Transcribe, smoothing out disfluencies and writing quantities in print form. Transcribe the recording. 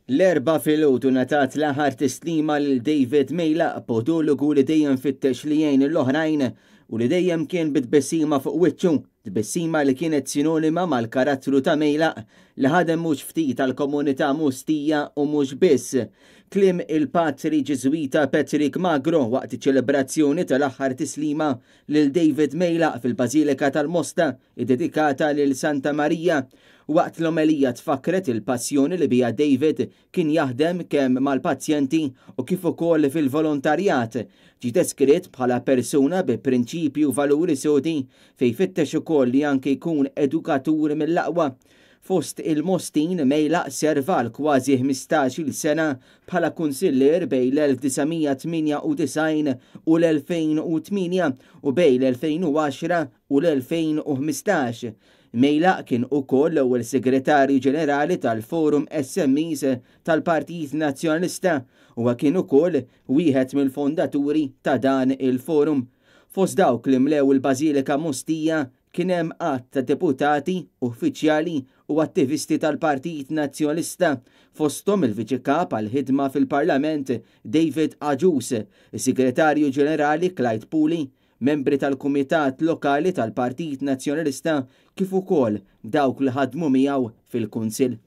L-Erbgħa filgħodu ngħatat l-aħħar tislima lil David Mejlaq, podologu li dejjem fittex li jgħin lill-oħrajn u li dejjem kien bi tbissima fuq wiċċu, tbissima li kienet sinonima mal-karattru ta' Mejlaq li ħadem mhux ftit għall-komunità Mostija u mhux biss. Kliem il-Patri Ġiżwita Patrick Magro waqt iċ-ċelebrazzjoni tal-aħħar tislima lil David Mejlaq fil-Bażilika tal-Mosta iddedikata lil Santa Marija. Waqt l-omelija tfakkret il-passjoni li biha David kien jaħdem kemm mal-pazjenti u kif ukoll fil-volontarjat. Ġie deskritt bħala persuna bi prinċipji u valuri sodi fejn fittex ukoll li anke jkun edukatur mill-aqwa. Fost il-Mostin, Mejlaq serva għal kważi 15-il sena bħala kunsillier bejn l-1998 u l-2008 u bejn l-2010 u l-2015. Mejlaq kien ukoll l-ewwel Segretarju Ġenerali tal-Forum SMEs tal-Partit Nazzjonalista. Huwa kien ukoll wieħed mill-fondaturi ta' dan il-forum. Fost dawk li mlew il-Bażilika Mostija kien hemm għadd ta' deputati, uffiċjali u attivisti tal-Partit Nazzjonalista, fosthom il-Viċi Kap għall-Ħidma fil-Parlament David Agius, is-Segretarju Ġenerali Clyde Puli, membri tal-Kumitat Lokali tal-Partit Nazzjonalista kif ukoll dawk li ħadmu miegħu fil-Kunsill.